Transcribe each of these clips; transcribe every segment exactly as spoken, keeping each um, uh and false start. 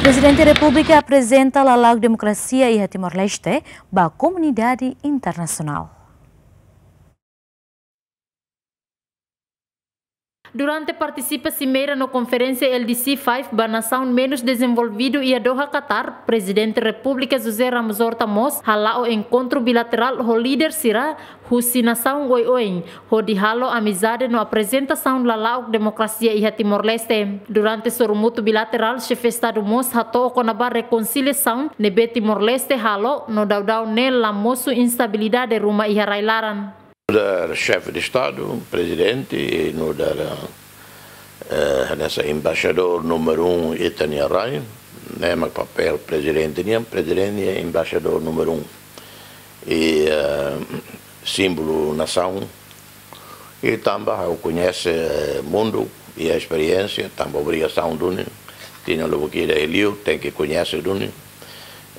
Prezidente Repúblika aprezenta lala'ok demokrasia iha Timor-Leste ba komunidade internasionál. Durante partisipa simeira no konferénsia L D C five ba nasaun menus dezenvolvidu iha Doha, Qatar, Prezidente Repúblika José Ramos Horta mós hala'o enkontru bilaterál ho líder sira husi nasaun oioin, hodi halo amizade no aprezentasaun lala'ok demokrasia iha Timor-Leste. Durante sorumutu bilaterál, xefe Estadu mós hato'o kona-ba rekonsiliasaun ne'ebé Timor-Leste halo no daudaun ne'e la mosu instabilidade ruma iha rai-laran. Nu'udar xefe de Estadu, prezidente, i nu'udar, eh, hanesan embaixadór númeru um ita-nia rai, ne'e mak papél prezidente nian, prezidente nian embaixadór númeru um. I, eh, símbolu nasaun. I tanba ha'u koñese, eh, mundu, i esperiénsia, tanba obrigasaun duni, tinan lubuk ida liu, tenke koñese duni.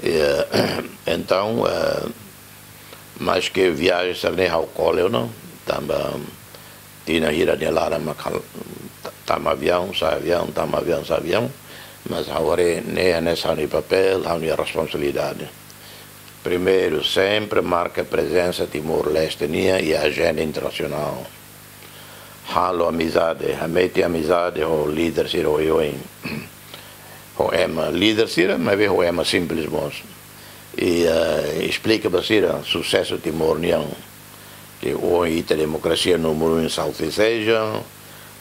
I, eh, entaun, eh, maske viajen sira-ne'e ha'u kole ona, tanba tinan hira nia laran mak ha'u ta-, tama aviaun, sa'e aviaun, tama aviaun, sa'e aviaun, mas ha'u haree ne'e hanesan ha'u-nia papél, ha'u-nia responsabilidade. Primeiru, sempre marka prezensa Timor-Leste nian iha ajenda internasionál. Halo amizade, hametin amizade ho líder sira oioin. Ho ema líder sira, maibé ho ema simples mós. I, eh, esplika ba sira susesu Timor nian. Ke ohin ita demokrasia númeru um em Southeast Asia,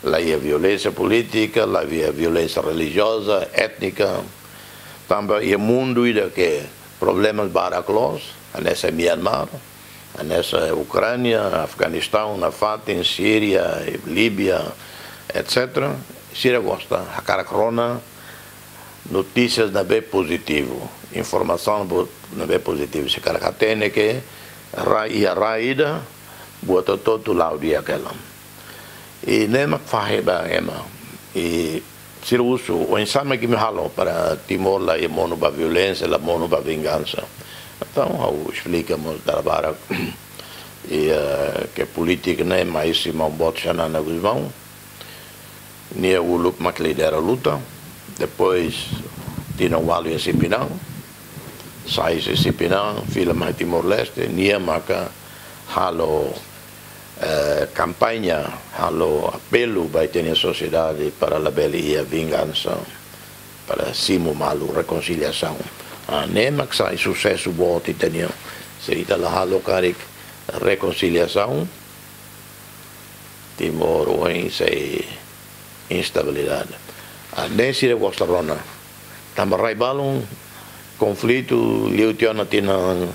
la iha violénsia polítika, la iha violénsia relijioza, étnika. Tanba iha mundu ida ke problemas barak loos, hanesan Myanmar, hanesan Ukránia, Afeganistaun, nafatin, Síria, Líbia, et cetera. Sira gosta hakarak rona notísias ne'ebé pozitivu, informasaun bo-, ne'ebé pozitivu. Sira hakarak hatene ke rai, iha rai ida, buat hotu-hotu la'o di'ak hela. I ne'e mak fahe ba ema. I sira husu, oinsá mak imi halo para Timor la iha monu ba violénsia, la monu ba vingansa. Entaun, ha'u esplika mós dala barak. I, eh, ke polítika ne'e mai husi maun boot Xanana Gusmão. Nia uluk mak lidera luta. Depois, tinan ualu iha Sipinang. Sai husi Sipinang, fila mai Timor-Leste. Nia maka halo, eh, kampaña, halo apelu ba ita-nia sosiedade para labele iha vingansa, para simu malu, rekonsiliasaun. Ah, ne'e mak sai susesu boot ita-nian. Se ita la halo karik rekonsiliasaun, Timor ohin sei instabilidade. Ah, ne'e sira gosta rona. Tanba rai balun konflitu liu tiha ona tinan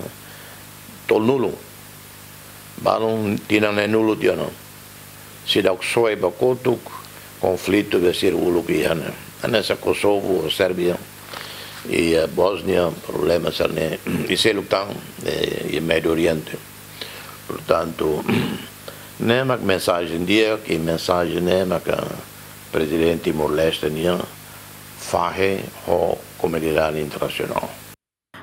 tolunulu. Balun tinan neenulu tiha ona. Seidauk soe ba kotuk, konflitu be sira uluk iha ne'e. Hanesan Kosovu, Sérbia, i, eh, Bósnia, problema sira-ne'e, i seluk tan, eh, i Médiu Oriente. Portantu, ne'e mak mensajen di'ak, i mensajen ne'e mak, ah, prezidente Timor-Leste nian fahe ho komunidade internasionál.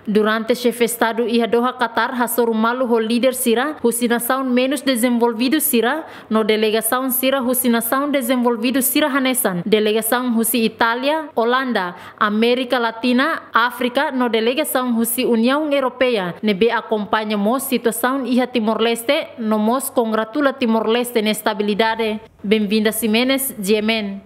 Durante xefe Estadu iha Doha, Qatar, hasoru malu ho líder sira husi nasaun menus dezenvolvidu sira, no delegasaun sira husi nasaun dezenvolvidu sira hanesan delegasaun husi Itália, Olanda, Amérika Latina, Áfrika, no delegasaun husi Uniaun Europeia, ne'ebé akompaña mós situasaun iha Timor-Leste, no mós kongratula Timor-Leste nia estabilidade. Benvinda Ximenes, G M N.